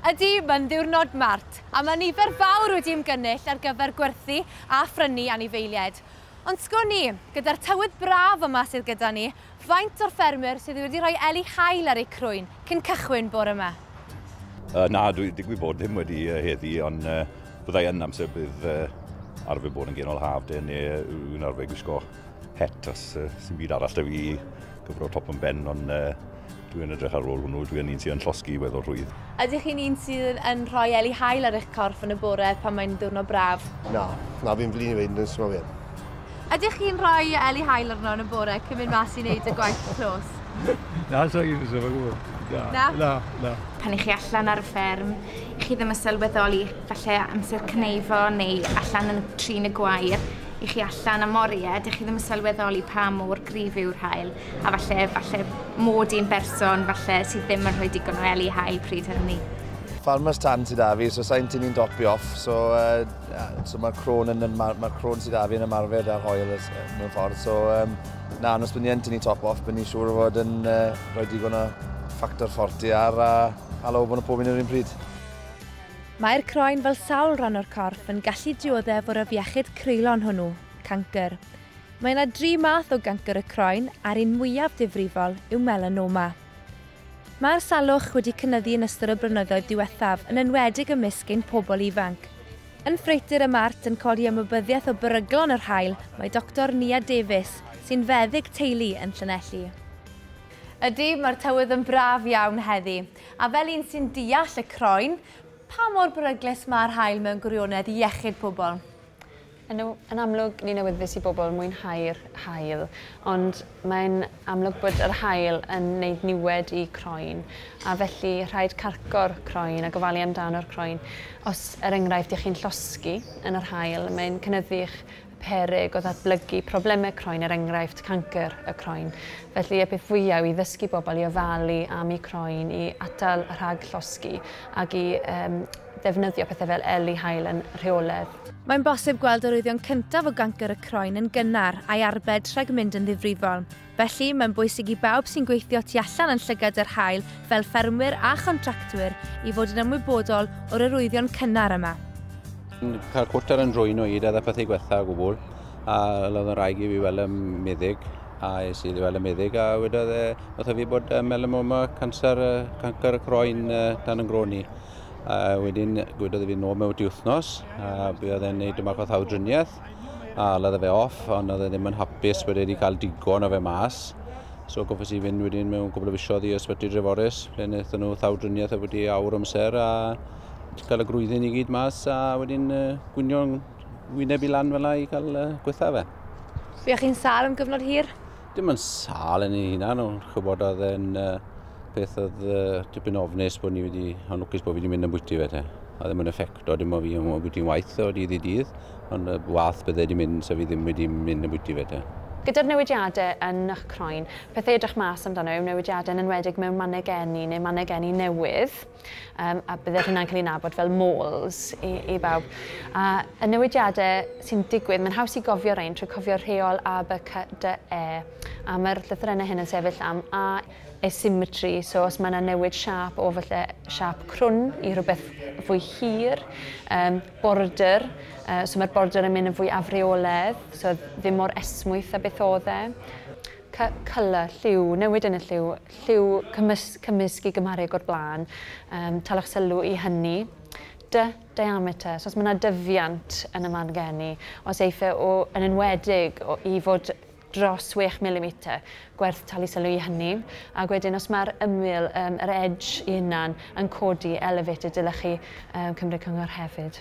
Ydy, mae'n ddiwrnod mart, a mae nifer fawr wedi ymgynnull ar gyfer gwerthu a phrynu anifeiliaid. Ond sgwn i, gyda'r tywydd braf yma sydd gyda ni, faint o'r ffermwyr sydd wedi rhoi eli haul ar eu crwyn cyn cychwyn bore yma? Na, dwi digwydd bod ddim wedi heddi, ond byddai yn amser bydd arfer bod yn genol haf de, neu wy'n arfer gwisgo het os sy'n byd arall da fi gyfro top yn ben, ond dwi'n edrych ar ôl hwnnw, dwi'n un sy'n yn llosgi weddol rhwydd. Ydych chi'n un sydd yn rhoi eli haul ar eich corff yn y bore pan mae'n diwrnod braf? Na, na fi'n flin i weud yn syml fi. Ydych chi'n rhoi eli haul arno yn y bore cyn mynd mas i wneud y gwaith clos? Na, so i'n syml gwybod. Na? Na, na. Pan i chi allan ar y fferm, chi ddim yn sylweddoli falle amser cneifo neu allan yn trin y gwair, i chi allan am oriau, dych chi ddim yn sylweddoli pa mor gryf yw'r haul, a falle, falle mod i'n berson falle sydd ddim yn rhoi digon o eli haul pryd hynny. Farmers tan sydd 'da fi, so sa'n tynnu'n topi off, so, so mae'r croen, yn, ma croen sydd 'da fi yn ymarfer ar haul mewn ffordd, so na, os bydd ni yn tynnu top off, bydd ni siŵr o fod yn rhoi digon o factor 40 ar a hala o bod pob un yr un pryd. Mae'r croen fel sawl rhan o'r corff yn gallu dioddef o'r afiechyd creulon hwnnw, cancr. Mae yna dri math o gancr y croen a'r un mwyaf difrifol yw melanoma. Mae'r salwch wedi cynyddu yn ystod y blynyddoedd diwethaf, yn enwedig ymysg ein pobl ifanc. Yn ffreutur y mart yn codi ymwybyddiaeth o beryglon yr haul, mae Dr Nia Davies, sy'n feddyg teulu yn Llanelli. Ydy, mae'r tywydd yn braf iawn heddi, a fel un sy'n deall y croen, pa mor beryglus mae'r haul mewn gwirionedd i iechyd pobl? Yn, yn amlwg, ni'n awyddus i bobl mwynhau'r haul, ond mae'n amlwg bod yr haul yn gwneud niwed i croen, a felly rhaid carco'r croen a gofalu amdano'r croen. Os, er enghraifft, ych chi'n llosgi yn yr haul, mae'n cynyddu'ch peryg o ddatblygu problemau croen, er enghraifft cancr y croen. Felly y peth fwyaf i ddysgu bobl i ofalu am eu croen, i atal rhag llosgi ac i ddefnyddio pethau fel eli haul yn rheolaidd. Mae'n bosib gweld arwyddion cyntaf o gancr y croen yn gynnar a'i arbed rhag mynd yn ddifrifol. Felly, mae'n bwysig i bawb sy'n gweithio tu allan yn llygad yr haul fel ffermwyr a chontractwyr i fod yn ymwybodol o'r arwyddion cynnar yma. Cael cwt ar yn drwyn o hyd a pethau gwetha o gwbl, a oedd yn rhaid i fi weld y meddyg, a es i weld y meddyg, a wedodd e wrtho fi bod melanoma, canser, cancr y croen dan yn grôn i. A wedyn gwedodd e fi nôl mewn wythnos, a buodd e'n neud yma o llawdriniaeth, a laddo fe off, ond oedd e ddim yn hapus bod e wedi cael digon o fe mas. So goffes i fynd wedyn mewn cwbl o fisoedd i Ysbyty Dreforys, ble wnaethon nhw llawdriniaeth wedi awr amser, a cael y grwyddyn i gyd mas a wedyn gwynio'n wyneb i lan fel 'na i cael gwetha fe. Fuoch chi'n sâl am gyfnod hir? Dim yn sâl yn ei hunan, ond chybod oedd e'n peth oedd tipyn ofnus bod ni wedi, ond lwcus bod fi wedi mynd yn bwyty fe te. A ddim yn effecto, dim o fi yn bwyty'n waith o dydd i dydd, ond wath bydde wedi mynd, so fi ddim wedi mynd yn bwyty fe te. Gyda'r newidiadau yn eich croen, pethau edrych mas amdano yw newidiadau yn enwedig mewn mannau geni neu mannau geni newydd, a bydde hynna'n cael ei nabod fel moles i bawb. A y newidiadau sy'n digwydd, mae'n haws i gofio rhain trwy cofio'r rheol A, B, C, D, E. A mae'r llythrennau hyn yn sefyll am A, asymmetry, so os mae yna newid siâp o falle siâp crwn i rhywbeth fwy hir, border, so mae'r border yn mynd yn fwy afreoledd, so ddim mor esmwyth a beth oedd e. Colour, lliw, newid yn y lliw, lliw cymysg i gymharu o'r blaen, talwch sylw i hynny. D, diameter, so os mae yna dyfiant yn y man geni, os eiff e o, yn enwedig o, i fod dros 6 mm, gwerth talu sylw i hynny. Ac wedyn os mae'r ymyl, yr edge i hunan yn codi elevated, dylech chi cymryd cyngor hefyd.